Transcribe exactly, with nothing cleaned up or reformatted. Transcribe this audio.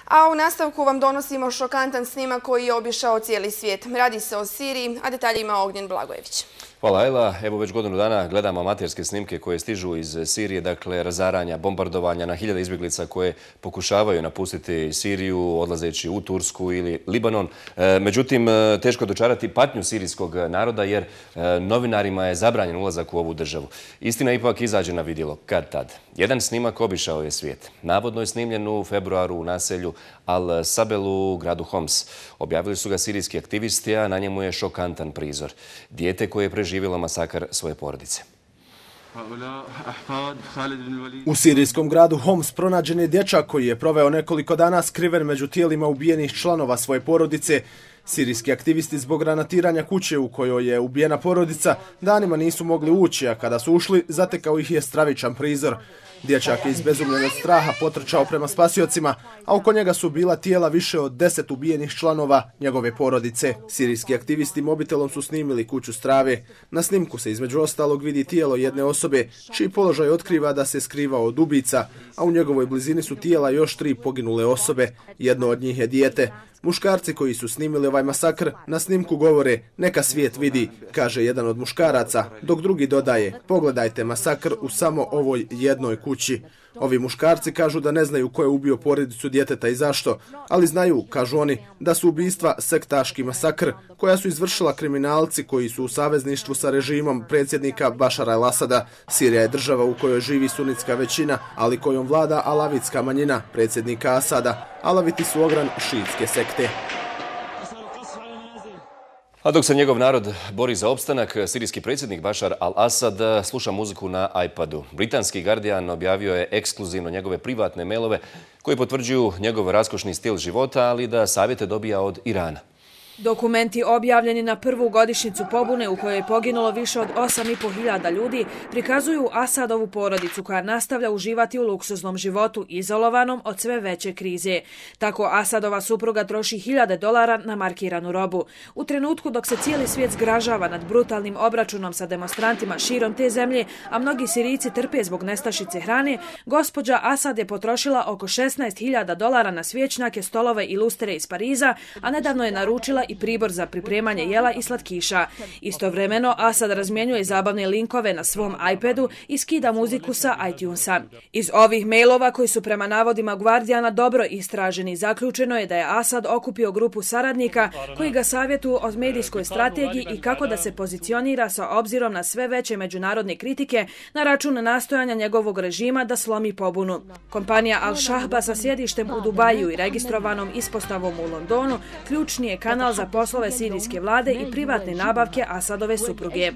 A u nastavku vam donosimo šokantan snimak koji je obišao cijeli svijet. Radi se o Siriji, a detalje ima Ognjen Blagojević. Hvala Ajla. Evo već godinu dana gledamo amaterske snimke koje stižu iz Sirije, dakle razaranja, bombardovanja na hiljade izbjeglica koje pokušavaju napustiti Siriju odlazeći u Tursku ili Libanon. Međutim, teško je dočarati patnju sirijskog naroda jer novinarima je zabranjen ulazak u ovu državu. Istina ipak izađe na vidjelo kad tad. Jedan snimak obišao je svijet. Navodno je snimljen u februaru u naselju Al-Sabelu u gradu Homs. Objavili su ga sirijski aktivisti, a na njemu je šokantan prizor. Dijete koje je preživjelo masakar svoje porodice. U sirijskom gradu Homs pronađen je dječak koji je proveo nekoliko dana skriven među tijelima ubijenih članova svoje porodice. Sirijski aktivisti zbog granatiranja kuće u kojoj je ubijena porodica danima nisu mogli ući, a kada su ušli zatekao ih je stravičan prizor. Dječak je izbezumljen od straha potrčao prema spasiocima, a oko njega su bila tijela više od deset ubijenih članova njegove porodice. Sirijski aktivisti mobitelom su snimili kuću strave. Na snimku se između ostalog vidi tijelo jedne osobe, čiji položaj otkriva da se skrivao od ubica, a u njegovoj blizini su tijela još tri poginule osobe. Jedno od njih je dijete. Muškarci koji su snimili ovaj masakr na snimku govore neka svijet vidi, kaže jedan od muškaraca, dok drugi dodaje pogledajte masakr u samo ovoj jednoj kući. Ovi muškarci kažu da ne znaju ko je ubio porodicu djeteta i zašto, ali znaju, kažu oni, da su ubistva sektaški masakr koja su izvršila kriminalci koji su u savezništvu sa režimom predsjednika Bašara el-Asada. Sirija je država u kojoj živi sunitska većina, ali kojom vlada alavitska manjina predsjednika Asada. Alaviti su ogran šiitske sekte. A dok se njegov narod bori za opstanak, sirijski predsjednik Bašar al-Asad sluša muziku na iPadu. Britanski Guardian objavio je ekskluzivno njegove privatne mailove koji potvrđuju njegov raskošni stil života, ali da savjete dobija od Irana. Dokumenti objavljeni na prvu godišnjicu pobune u kojoj je poginulo više od osam i po hiljada ljudi prikazuju Asadovu porodicu koja nastavlja uživati u luksuznom životu izolovanom od sve veće krize. Tako Asadova supruga troši hiljade dolara na markiranu robu. U trenutku dok se cijeli svijet zgražava nad brutalnim obračunom sa demonstrantima širom te zemlje, a mnogi Sirijci trpe zbog nestašice hrane, gospođa Asad je potrošila oko šesnaest hiljada dolara na svječnjake, stolove i lustere iz Pariza, a nedavno je naručila i pribor za pripremanje jela i slatkiša. Istovremeno, Asad razmjenjuje zabavne linkove na svom iPadu i skida muziku sa iTunesa. Iz ovih mailova koji su prema navodima Guardiana dobro istraženi, zaključeno je da je Asad okupio grupu saradnika koji ga savjetuju o medijskoj strategiji i kako da se pozicionira sa obzirom na sve veće međunarodne kritike na račun nastojanja njegovog režima da slomi pobunu. Kompanija Al-Shahba sa sjedištem u Dubaju i registrovanom ispostavom u Londonu ključni je kanal za poslove sirijske vlade i privatne nabavke Asadove supruge.